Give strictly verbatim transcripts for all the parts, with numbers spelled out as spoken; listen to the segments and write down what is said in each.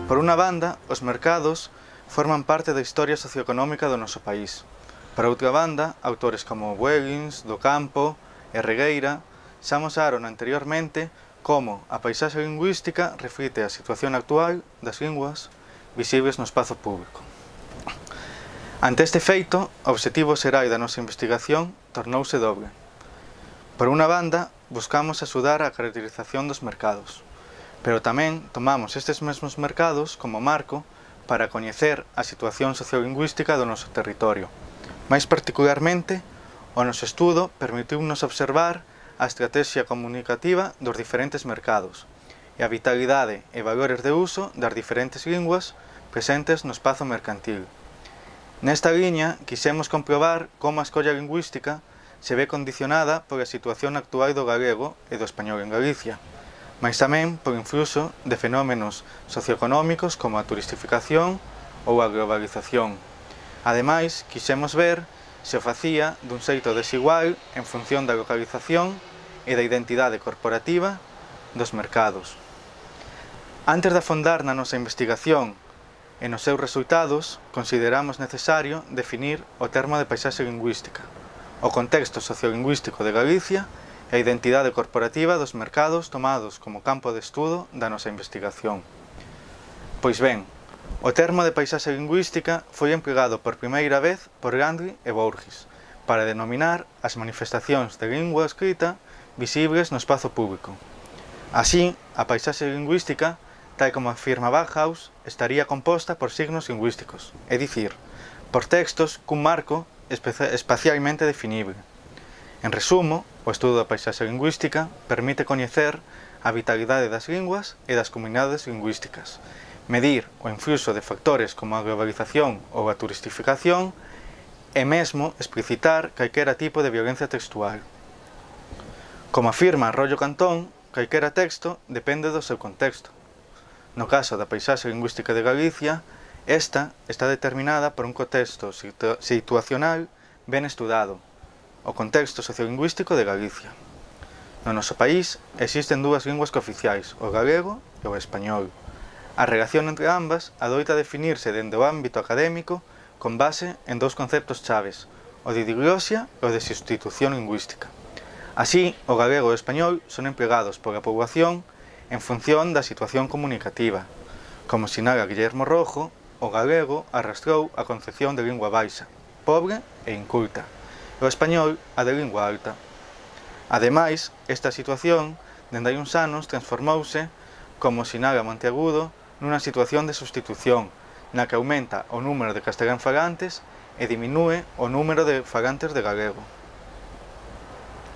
Por unha banda, os mercados forman parte da historia socioeconómica do noso país. Por outra banda, autores como Bueguins, Do Campo e Regueira xa amosaron anteriormente como a paisaxe lingüística reflite a situación actual das linguas visibles no espazo público. Ante este feito, o obxectivo xeral da nosa investigación tornouse dobre. Por unha banda, buscamos axudar a caracterización dos mercados, pero tamén tomamos estes mesmos mercados como marco para coñecer a situación sociolingüística do noso territorio. Mais particularmente, o noso estudo permitiunos observar a estrategia comunicativa dos diferentes mercados e a vitalidade e valores de uso das diferentes linguas presentes no espazo mercantil. Nesta liña, quixemos comprobar como a escolla lingüística se ve condicionada pola situación actual do galego e do español en Galicia, mais tamén por influxo de fenómenos socioeconómicos como a turistificación ou a globalización. Ademais, quixemos ver se o facía dun xeito desigual en función da localización e da identidade corporativa dos mercados. Antes de afondar na nosa investigación e nos seus resultados, consideramos necesario definir o termo de paisaxe lingüística, o contexto sociolingüístico de Galicia e a identidade corporativa dos mercados tomados como campo de estudo da nosa investigación. Pois ben, o termo de paisaxe lingüística foi empregado por primeira vez por Gandhi e Bourges para denominar as manifestacións de lingua escrita visibles no espazo público. Así, a paisaxe lingüística, tal como afirma Bauhaus, estaría composta por signos lingüísticos, é dicir, por textos cun marco espacialmente definible. En resumo, o estudo da paisaxe lingüística permite coñecer a vitalidade das linguas e das comunidades lingüísticas, medir o influxo de factores como a globalización ou a turistificación e mesmo explicitar calquera tipo de violencia textual. Como afirma Arroyo Cantón, calquera texto depende do seu contexto. No caso da paisaxe lingüística de Galicia, esta está determinada por un contexto situacional ben estudado, o contexto sociolingüístico de Galicia. No noso país existen dúas linguas cooficiais, o galego e o español. A relación entre ambas adoita definirse dende o ámbito académico con base en dous conceptos chaves, o de diglosia e o de sustitución lingüística. Así, o galego e o español son empregados pola poboación en función da situación comunicativa. Como sinala Guillermo Rojo, o galego arrastrou a concepción de lingua baixa, pobre e inculta, e o español a de lingua alta. Ademais, esta situación, dende hai uns anos, transformouse, como sinala Monteagudo, nunha situación de sustitución, na que aumenta o número de castelán falantes e diminúe o número de falantes de galego.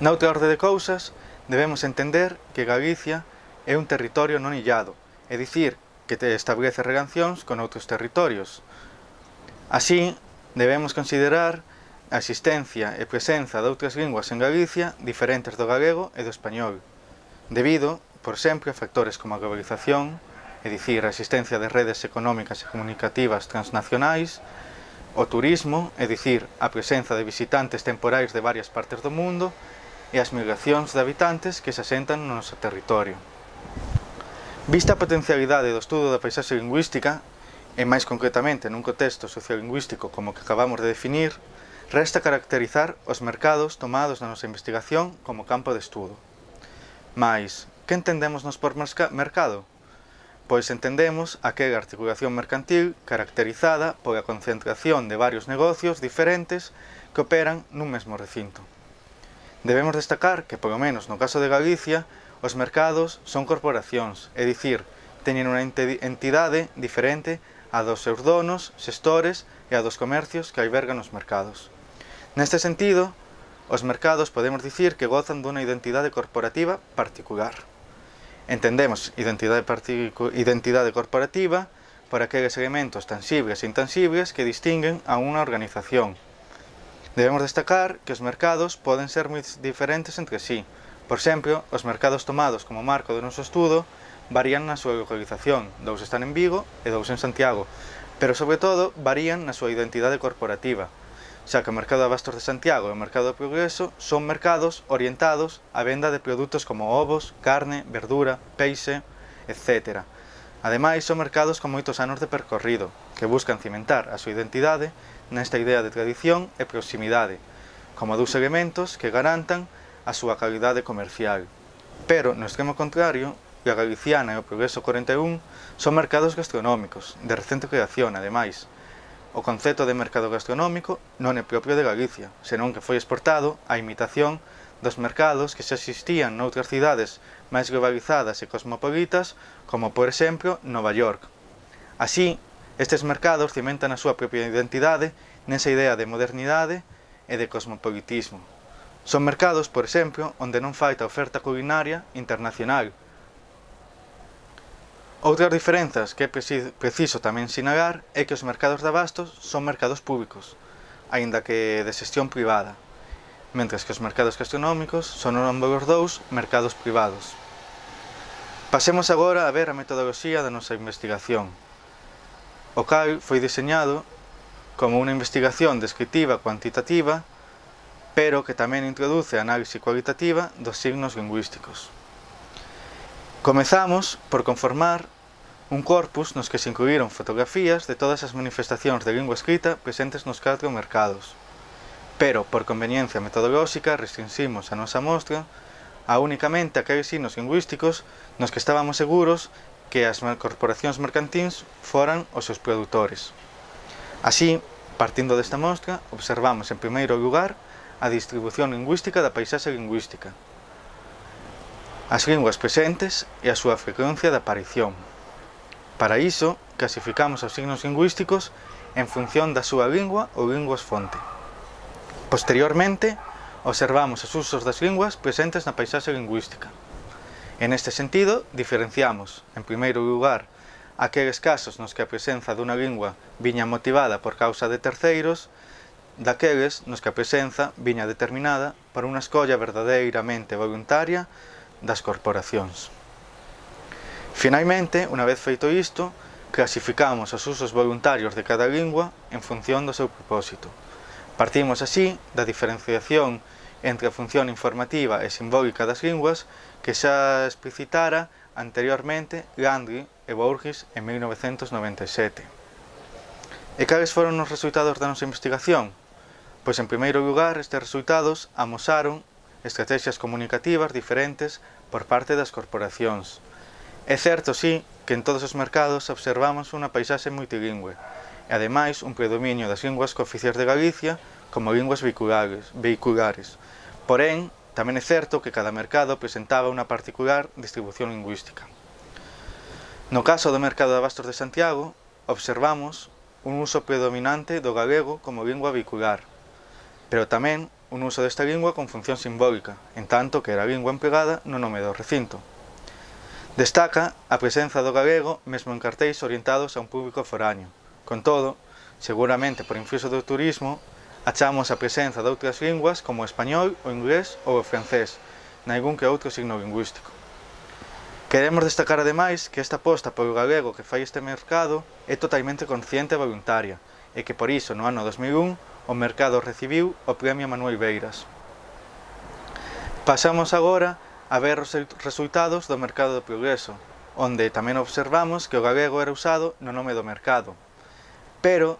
Noutra orde de cousas, debemos entender que Galicia é un territorio non illado, é dicir, que establece relacións con outros territorios. Así, debemos considerar a existencia e presenza de outras linguas en Galicia diferentes do galego e do español, debido, por sempre, a factores como a globalización, é dicir, a existencia de redes económicas e comunicativas transnacionais, o turismo, é dicir, a presenza de visitantes temporais de varias partes do mundo, e as migracións de habitantes que se asentan no noso territorio. Vista a potencialidade do estudo da paisaxe lingüística, e máis concretamente nun contexto sociolingüístico como que acabamos de definir, resta caracterizar os mercados tomados na nosa investigación como campo de estudo. Mais, que entendemos nos por mercado? Pois entendemos aquela articulación mercantil caracterizada pola concentración de varios negocios diferentes que operan nun mesmo recinto. Debemos destacar que, polo menos no caso de Galicia, os mercados son corporacións, é dicir, teñen unha entidade diferente a dos seus donos, xestores e a dos comercios que albergan os mercados. Neste sentido, os mercados podemos dicir que gozan dunha identidade corporativa particular. Entendemos identidade, identidade corporativa por aqueles elementos tangibles e intangibles que distinguen a unha organización. Debemos destacar que os mercados poden ser moi diferentes entre sí. Por exemplo, os mercados tomados como marco do noso estudo varían na súa localización, dous están en Vigo e dous en Santiago, pero sobre todo varían na súa identidade corporativa, xa que o mercado de abastos de Santiago e o mercado do Progreso son mercados orientados á venda de produtos como ovos, carne, verdura, peixe, etcétera, Ademais, son mercados con moitos anos de percorrido, que buscan cimentar a súa identidade nesta idea de tradición e proximidade, como dous elementos que garantan a súa calidade comercial. Pero, no extremo contrario, a Galiciana e o Progreso corenta e un son mercados gastronómicos, de recente creación, ademais. O concepto de mercado gastronómico non é propio de Galicia, senón que foi exportado á imitación dos mercados que xa existían noutras cidades máis globalizadas e cosmopolitas, como por exemplo Nova York. Así, estes mercados cimentan a súa propia identidade nesa idea de modernidade e de cosmopolitismo. Son mercados, por exemplo, onde non falta oferta culinaria internacional. Outras diferenzas que é preciso tamén sinalar é que os mercados de abastos son mercados públicos, aínda que de xestión privada, mentres que os mercados gastronómicos son ambos os dous mercados privados. Pasemos agora a ver a metodoloxía da nosa investigación. O cal foi diseñado como unha investigación descriptiva cuantitativa, pero que tamén introduce a análise cualitativa dos signos lingüísticos. Comezamos por conformar un corpus nos que se incluíron fotografías de todas as manifestacións de lingua escrita presentes nos catro mercados. Pero, por conveniencia metodolóxica, restringimos a nosa mostra a únicamente aqueles signos lingüísticos nos que estábamos seguros que as corporacións mercantíns foran os seus produtores. Así, partindo desta mostra, observamos en primeiro lugar a distribución lingüística da paisaxe lingüística, as linguas presentes e a súa frecuencia de aparición. Para iso, clasificamos os signos lingüísticos en función da súa lingua ou linguas fonte. Posteriormente, observamos os usos das linguas presentes na paisaxe lingüística. En este sentido, diferenciamos, en primeiro lugar, aqueles casos nos que a presenza dunha lingua viña motivada por causa de terceiros, daqueles nos que a presenza viña determinada por unha escolla verdadeiramente voluntaria das corporacións. Finalmente, unha vez feito isto, clasificamos os usos voluntarios de cada lingua en función do seu propósito. Partimos así da diferenciación entre a función informativa e simbólica das linguas que xa explicitara anteriormente Landry e Bourgis en mil novecentos noventa e sete. E cales foron os resultados da nosa investigación? Pois, en primeiro lugar, estes resultados amosaron estrategias comunicativas diferentes por parte das corporacións. É certo, sí, que en todos os mercados observamos unha paisaxe multilingüe e, ademais, un predominio das linguas cooficiais de Galicia como linguas vehiculares, vehiculares. Porén, tamén é certo que cada mercado presentaba unha particular distribución lingüística. No caso do mercado de abastos de Santiago, observamos un uso predominante do galego como lingua vehicular, pero tamén un uso desta lingua con función simbólica, en tanto que era a lingua empregada no nome do recinto. Destaca a presenza do galego mesmo en cartéis orientados a un público foráneo. Con todo, seguramente por influxo do turismo, achamos a presenza de outras linguas como o español, o inglés ou o francés, naigún que outro signo lingüístico. Queremos destacar ademais que esta aposta polo galego que fai este mercado é totalmente consciente e voluntaria, e que por iso no ano dos mil un o mercado recibiu o Premio Manuel Beiras. Pasamos agora a ver os resultados do mercado do Progreso, onde tamén observamos que o galego era usado no nome do mercado. Pero,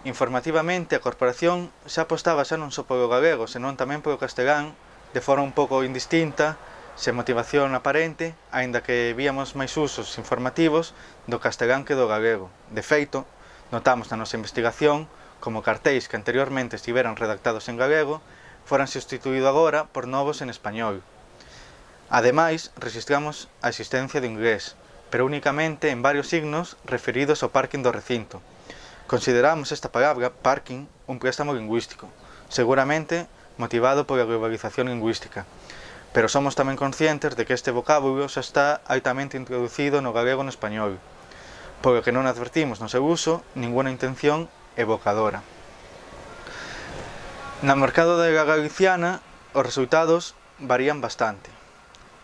informativamente, a corporación xa apostaba xa non só polo galego, senón tamén polo castelán, de forma un pouco indistinta, sen motivación aparente, aínda que víamos máis usos informativos do castelán que do galego. De feito, notamos na nosa investigación como cartéis que anteriormente estiveran redactados en galego foran substituídos agora por novos en español. Ademais, registramos a existencia do inglés, pero únicamente en varios signos referidos ao parking do recinto. Consideramos esta palabra, parking, un préstamo lingüístico, seguramente motivado pola globalización lingüística, pero somos tamén conscientes de que este vocábulo xa está altamente introducido no galego e no español, polo que non advertimos no seu uso ninguna intención evocadora. No mercado da galiciana, os resultados varían bastante.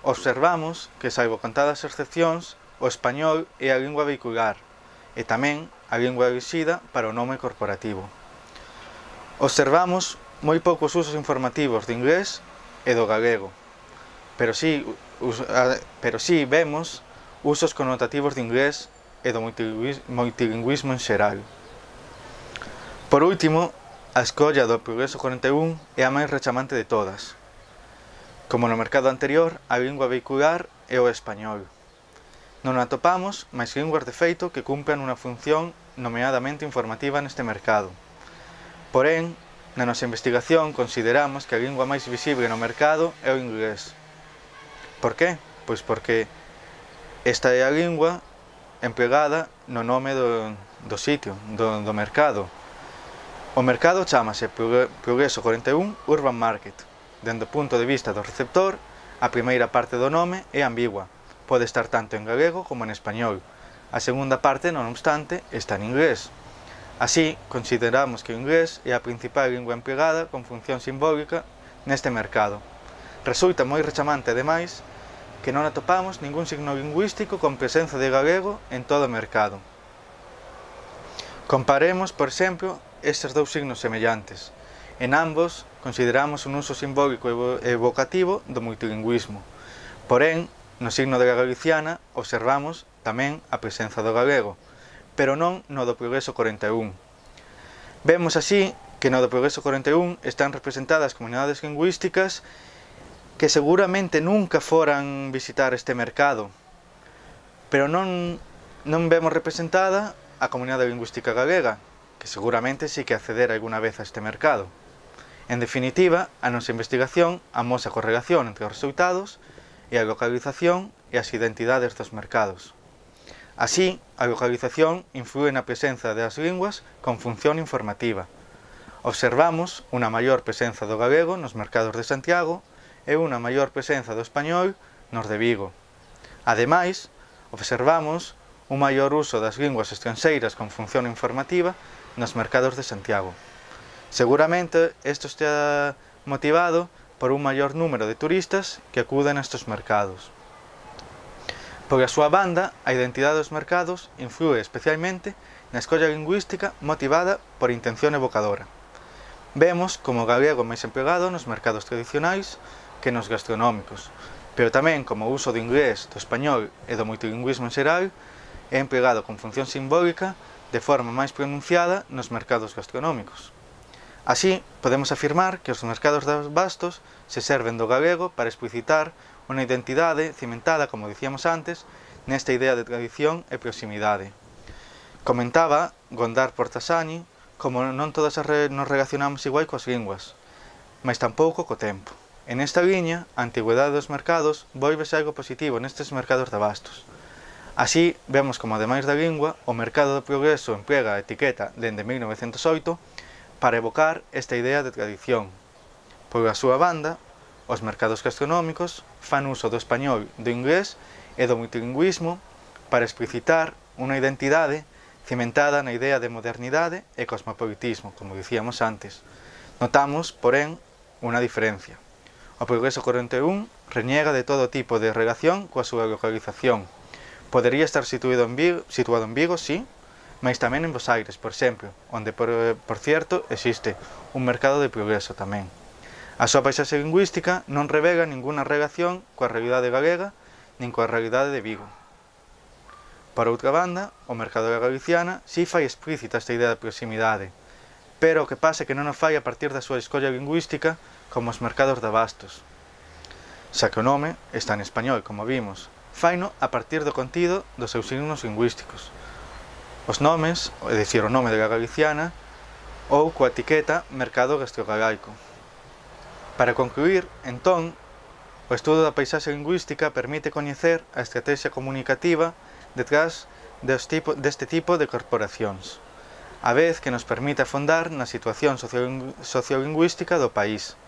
Observamos que, salvo contadas excepcións, o español é a lingua vehicular e tamén a lingua elixida para o nome corporativo. Observamos moi poucos usos informativos de inglés e do galego, pero si, pero si vemos usos connotativos de inglés e do multilingüismo en xeral. Por último, a escolla do Progreso corenta e un é a máis rechamante de todas. Como no mercado anterior, a lingua vehicular é o español. Non atopamos máis linguas de feito que cumpran unha función nomeadamente informativa neste mercado. Porén, na nosa investigación consideramos que a lingua máis visible no mercado é o inglés. Por qué? Pois porque esta é a lingua empregada no nome do, do sitio, do, do mercado. O mercado chámase Progreso corenta e un Urban Market. Dende o punto de vista do receptor, a primeira parte do nome é ambigua. Pode estar tanto en galego como en español. A segunda parte, non obstante, está en inglés. Así, consideramos que o inglés é a principal lingua empregada con función simbólica neste mercado. Resulta moi rechamante, ademais, que non atopamos ningún signo lingüístico con presenza de galego en todo o mercado. Comparemos, por exemplo, estes dous signos semellantes. En ambos, consideramos un uso simbólico e evocativo do multilingüismo. Porén, no signo de la galiciana, observamos tamén a presenza do galego, pero non no do Progreso corenta e un. Vemos así que no do Progreso corenta e un están representadas comunidades lingüísticas que seguramente nunca foran visitar este mercado, pero non, non vemos representada a comunidade lingüística galega, que seguramente sí que acceder alguna vez a este mercado. En definitiva, a nosa investigación amosa a correlación entre os resultados e a localización e as identidades dos mercados. Así, a localización inflúe na presenza das linguas con función informativa. Observamos unha maior presenza do galego nos mercados de Santiago e unha maior presenza do español nos de Vigo. Ademais, observamos un maior uso das linguas estranxeiras con función informativa nos mercados de Santiago. Seguramente isto está motivado por un maior número de turistas que acuden a estes mercados. Por a súa banda, a identidade dos mercados inflúe especialmente na escolla lingüística motivada por intención evocadora. Vemos como o galego máis empregado nos mercados tradicionais que nos gastronómicos, pero tamén como o uso do inglés, do español e do multilingüismo en xeral é empregado con función simbólica de forma máis pronunciada nos mercados gastronómicos. Así, podemos afirmar que os mercados de bastos se serven do galego para explicitar unha identidade cimentada, como dicíamos antes, nesta idea de tradición e proximidade. Comentaba Gondar Portasani como non todas nos relacionamos igual coas linguas, mas tampouco co tempo. En esta liña, a antigüedade dos mercados volvese algo positivo nestes mercados de bastos. Así, vemos como, ademais da lingua, o mercado do progreso emprega a etiqueta dende mil novecentos oito para evocar esta idea de tradición. Por a súa banda, os mercados gastronómicos fan uso do español, do inglés e do multilingüismo para explicitar unha identidade cimentada na idea de modernidade e cosmopolitismo, como dicíamos antes. Notamos, porén, unha diferencia. O Progreso corenta e un reniega de todo tipo de relación coa súa localización. Podería estar situado en Vigo, situado en Vigo, sí, mas tamén en Bos Aires, por exemplo, onde, por, por cierto, existe un mercado de progreso tamén. A súa paisaxe lingüística non revela ninguna relación coa realidade galega nin coa realidade de Vigo. Por outra banda, o mercado da galiciana si fai explícita esta idea de proximidade, pero o que pasa é que non o fai a partir da súa escolla lingüística como os mercados de abastos. Xa que o nome está en español, como vimos, faino a partir do contido dos seus signos lingüísticos. Os nomes, é dicir, o nome da galiciana, ou coa etiqueta Mercado Gastrogalaico. Para concluir, entón, o estudo da paisaxe lingüística permite coñecer a estrategia comunicativa detrás deste tipo de corporacións, a vez que nos permite afondar na situación sociolingüística do país.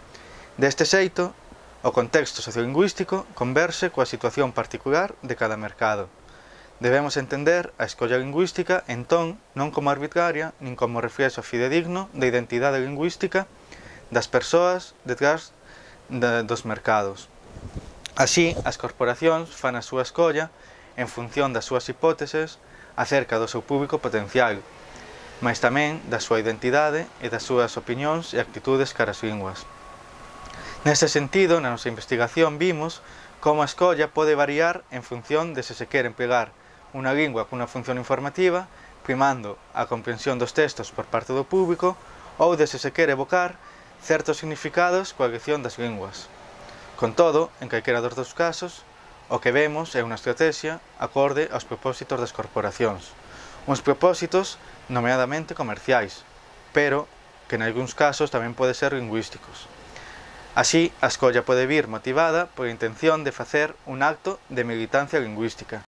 Deste xeito, o contexto sociolingüístico converxe coa situación particular de cada mercado. Debemos entender a escolla lingüística, entón, non como arbitraria, nin como reflexo fidedigno da identidade lingüística das persoas detrás de, dos mercados. Así, as corporacións fan a súa escolla en función das súas hipóteses acerca do seu público potencial, mas tamén da súa identidade e das súas opinións e actitudes cara ás linguas. Neste sentido, na nosa investigación vimos como a escolla pode variar en función de se se quere empregar unha lingua cunha función informativa, primando a comprensión dos textos por parte do público, ou de se se quere evocar certos significados coa elección das linguas. Con todo, en calquera dos dous casos, o que vemos é unha estrategia acorde aos propósitos das corporacións, uns propósitos nomeadamente comerciais, pero que en algúns casos tamén pode ser lingüísticos. Así, a escolla pode vir motivada pola intención de facer un acto de militancia lingüística,